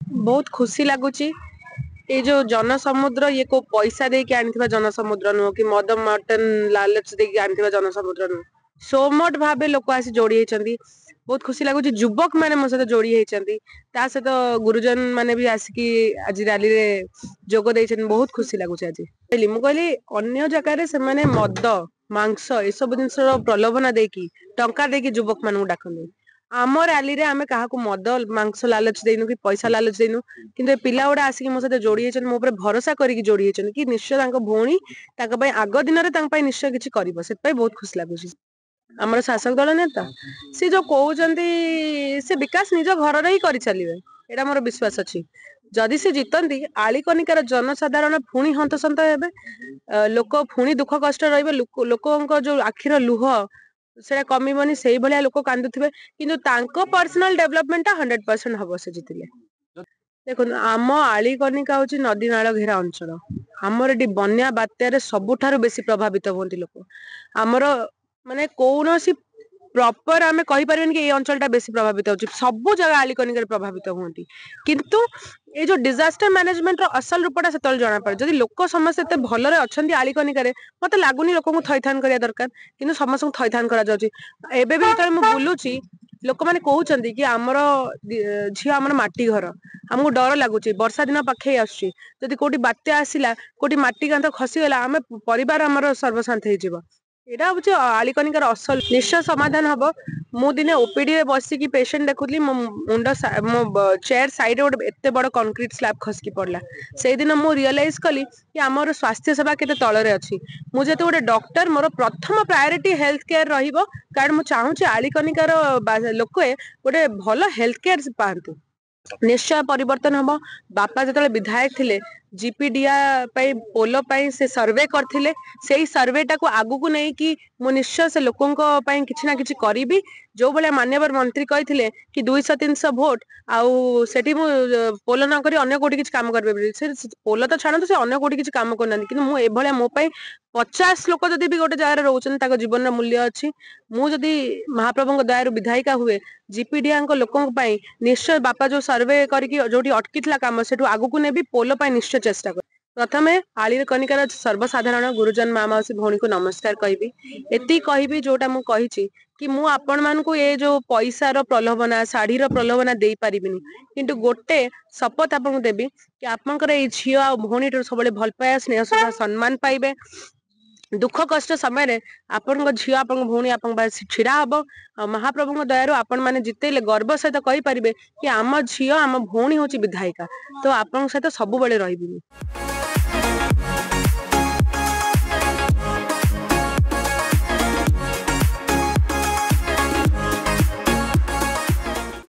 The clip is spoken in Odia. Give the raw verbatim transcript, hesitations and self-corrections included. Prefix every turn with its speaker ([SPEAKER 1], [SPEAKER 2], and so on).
[SPEAKER 1] ବହୁତ ଖୁସି ଲାଗୁଛି। ଏଇ ଯୋଉ ଜନସମୁଦ୍ର, ଇଏ କୋଉ ପଇସା ଦେଇକି ଆଣିଥିବା ଜନସମୁଦ୍ର ନୁହଁ କି ମଦ ମଟନ ଲାଲଚ ଦେଇକି ଆଣିଥିବା ଜନସମୁଦ୍ର ନୁହଁ। ସୁଓମୋଟୋ ଭାବେ ଲୋକ ଆସି ଯୋଡି ହେଇଛନ୍ତି। ବହୁତ ଖୁସି ଲାଗୁଛି, ଯୁବକ ମାନେ ମୋ ସହିତ ଯୋଡି ହେଇଛନ୍ତି। ତା ସହିତ ଗୁରୁଜନ ମାନେ ବି ଆସିକି ଆଜି ରାଲିରେ ଯୋଗ ଦେଇଛନ୍ତି। ବହୁତ ଖୁସି ଲାଗୁଛି ଆଜି। ମୁଁ କହିଲି, ଅନ୍ୟ ଜାଗାରେ ସେମାନେ ମଦ, ମାଂସ ଏସବୁ ଜିନିଷର ପ୍ରଲୋଭନ ଦେଇକି, ଟଙ୍କା ଦେଇକି ଯୁବକ ମାନଙ୍କୁ ଡାକନ୍ତି। ଆମ ରାଲିରେ ଆମେ କାହାକୁ ମଦ ମାଂସ ଲାଲଚ ଦେଇନୁ କି ପଇସା ଲାଲଚ ଦେଇନୁ। କିନ୍ତୁ ଏ ପିଲା ଗୁଡା ଆସିକି ମୋ ସହିତ ଯୋଡି ହେଇଛନ୍ତି, ମୋ ଉପରେ ଭରସା କରିକି ଯୋଡି ହେଇଛନ୍ତି କି ନିଶ୍ଚୟ ତାଙ୍କ ଭଉଣୀ ତାଙ୍କ ପାଇଁ ଆଗ ଦିନରେ ତାଙ୍କ ପାଇଁ ନିଶ୍ଚୟ କିଛି କରିବ। ସେଥିପାଇଁ ବହୁତ ଖୁସି ଲାଗୁଛି। ଆମର ଶାସକ ଦଳ ନେତା ସେ ଯୋଉ କହୁଛନ୍ତି, ସେ ବିକାଶ ନିଜ ଘରରେ ହିଁ କରିଚାଲିବେ, ଏଇଟା ମୋର ବିଶ୍ୱାସ ଅଛି। ଯଦି ସେ ଜିତନ୍ତି, ଆଳିକନିକାର ଜନସାଧାରଣ ପୁଣି ହନ୍ତସନ୍ତ ହେବେ, ଲୋକ ପୁଣି ଦୁଃଖ କଷ୍ଟ ରହିବେ। ଲୋକଙ୍କ ଯୋଉ ଆଖିର ଲୁହ ସେଟା କମିବନି, ସେଇଭଳିଆ ଲୋକ କାନ୍ଦୁଥିବେ। କିନ୍ତୁ ତାଙ୍କ ପର୍ସନାଲ ଡେଭଲପମେଣ୍ଟ ଟା ହଣ୍ଡ୍ରେଡ ପରସେଣ୍ଟ ହବ ସେ ଜିତିଲେ। ଦେଖନ୍ତୁ, ଆମ ଆଳିକନିକା ହଉଛି ନଦୀ ନାଳ ଘେରା ଅଞ୍ଚଳ। ଆମର ଏଠି ବନ୍ୟା ବାତ୍ୟାରେ ସବୁଠାରୁ ବେଶୀ ପ୍ରଭାବିତ ହୁଅନ୍ତି ଲୋକ। ଆମର ମାନେ କୌଣସି ପ୍ରପର ଆମେ କହିପାରିବାନି କି ଏଇ ଅଞ୍ଚଳଟା ବେଶୀ ପ୍ରଭାବିତ ହଉଛି। ସବୁ ଜାଗା ଆଳିକନିକାରେ ପ୍ରଭାବିତ ହୁଅନ୍ତି। କିନ୍ତୁ ଏଇ ଯୋଉ ଡିଜାଷ୍ଟର ମ୍ୟାନେଜମେଣ୍ଟର ଅସଲ ରୂପଟା ସେତେବେଳେ ଜଣାପଡେ। ଯଦି ଲୋକ ସମସ୍ତେ ଏତେ ଭଲରେ ଅଛନ୍ତି ଆଳିକନିକାରେ, ମତେ ଲାଗୁନି ଲୋକଙ୍କୁ ଥଇଥାନ କରିବା ଦରକାର। କିନ୍ତୁ ସମସ୍ତଙ୍କୁ ଥଇଥାନ କରାଯାଉଛି। ଏବେ ବି ଯେତେବେଳେ ମୁଁ ବୁଲୁଛି, ଲୋକମାନେ କହୁଛନ୍ତି କି ଆମର ଝିଅ, ଆମର ମାଟି ଘର, ଆମକୁ ଡର ଲାଗୁଛି। ବର୍ଷା ଦିନ ପାଖେଇ ଆସୁଛି, ଯଦି କୋଉଠି ବାତ୍ୟା ଆସିଲା, କୋଉଠି ମାଟି କାନ୍ଥ ଖସିଗଲା, ଆମେ ପରିବାର ଆମର ସର୍ବଶାନ୍ତ ହେଇଯିବ। ଏଇଟା ହଉଛି ଆଳିକନିକାର ଅସଲ। ନିଶ୍ଚୟ ସମାଧାନ ହବ। ମୁଁ ଦିନେ ଓପିଡି ରେ ବସିକି ପେସେଣ୍ଟ ଦେଖୁଥିଲି, ମୋ ମୁଣ୍ଡ, ମୋ ଚେୟାର ସାଇଡରେ ଗୋଟେ ଏତେ ବଡ କନକ୍ରିଟ ସ୍ଲାବ ଖସିକି ପଡିଲା। ସେଇଦିନ ମୁଁ ରିଅଲାଇଜ କଲି କି ଆମର ସ୍ୱାସ୍ଥ୍ୟ ସେବା କେତେ ତଳରେ ଅଛି। ମୁଁ ଯେହେତୁ ଗୋଟେ ଡକ୍ଟର, ମୋର ପ୍ରଥମ ପ୍ରାୟୋରିଟି ହେଲ୍ଥ କେୟାର ରହିବ, କାରଣ ମୁଁ ଚାହୁଁଛି ଆଳିକନିକାର ଲୋକେ ଗୋଟେ ଭଲ ହେଲ୍ଥ କେୟାର ପାଆନ୍ତୁ। ନିଶ୍ଚୟ ପରିବର୍ତ୍ତନ ହବ। ବାପା ଯେତେବେଳେ ବିଧାୟକ ଥିଲେ, ଜିପିଡିଆ ପାଇଁ ପୋଲ ପାଇଁ ସେ ସର୍ଭେ କରିଥିଲେ। ସେଇ ସର୍ଭେଟାକୁ ଆଗକୁ ନେଇକି ମୁଁ ନିଶ୍ଚୟ ସେ ଲୋକଙ୍କ ପାଇଁ କିଛି ନା କିଛି କରିବି। ଯୋଉ ଭଳିଆ ମାନ୍ୟବର ମନ୍ତ୍ରୀ କହିଥିଲେ କି ଦୁଇଶହ ତିନିଶହ ଭୋଟ ଆଉ ସେଠି ମୁଁ ପୋଲ ନ କରି ଅନ୍ୟ କୋଉଠି କିଛି କାମ କରିପାରିବି, ସେ ପୋଲ ତ ଛାଡନ୍ତୁ, ସେ ଅନ୍ୟ କୋଉଠି କିଛି କାମ କରୁନାହାନ୍ତି। କିନ୍ତୁ ମୁଁ ଏଭଳିଆ, ମୋ ପାଇଁ ପଚାଶ ଲୋକ ଯଦି ବି ଗୋଟେ ଜାଗାରେ ରହୁଛନ୍ତି, ତାଙ୍କ ଜୀବନର ମୂଲ୍ୟ ଅଛି। ମୁଁ ଯଦି ମହାପ୍ରଭୁଙ୍କ ଦୟାରୁ ବିଧାୟିକା ହୁଏ, ଜିପିଡିଆଙ୍କ ଲୋକଙ୍କ ପାଇଁ ନିଶ୍ଚୟ ବାପା ଯୋଉ ସର୍ଭେ କରିକି ଯୋଉଠି ଅଟକିଥିଲା କାମ, ସେଠୁ ଆଗକୁ ନେବି। ପୋଲ ପାଇଁ ନିଶ୍ଚୟ ଚେଷ୍ଟା କରିବି। ପ୍ରଥମେ ଆଳିକନିକାର ସର୍ବସାଧାରଣ ଗୁରୁଜନ, ମା, ମାଉସୀ, ଭଉଣୀକୁ ନମସ୍କାର କହିବି। ଏତିକି କହିବି, ଯୋଉଟା ମୁଁ କହିଛି କି ମୁଁ ଆପଣ ମାନଙ୍କୁ ଏ ଯୋଉ ପଇସାର ପ୍ରଲୋଭନା, ଶାଢୀର ପ୍ରଲୋଭନା ଦେଇପାରିବିନି। କିନ୍ତୁ ଗୋଟେ ଶପଥ ଆପଣଙ୍କୁ ଦେବି କି ଆପଣଙ୍କର ଏଇ ଝିଅ ଆଉ ଭଉଣୀଠାରୁ ସବୁବେଳେ ଭଲ ପାଇବା, ସ୍ନେହ, ଶ୍ରଦ୍ଧା, ସମ୍ମାନ ପାଇବେ। ଦୁଃଖ କଷ୍ଟ ସମୟରେ ଆପଣଙ୍କ ଝିଅ, ଆପଣଙ୍କ ଭଉଣୀ ଆପଣଙ୍କ ପାଖରେ ଛିଡା ହବ। ଆଉ ମହାପ୍ରଭୁଙ୍କ ଦୟାରୁ ଆପଣ ମାନେ ଜିତେଇଲେ ଗର୍ବ ସହିତ କହିପାରିବେ କି ଆମ ଝିଅ, ଆମ ଭଉଣୀ ହଉଛି ବିଧାୟିକା। ତ ଆପଣଙ୍କ ସହିତ ସବୁବେଳେ ରହିବି ମୁଁ।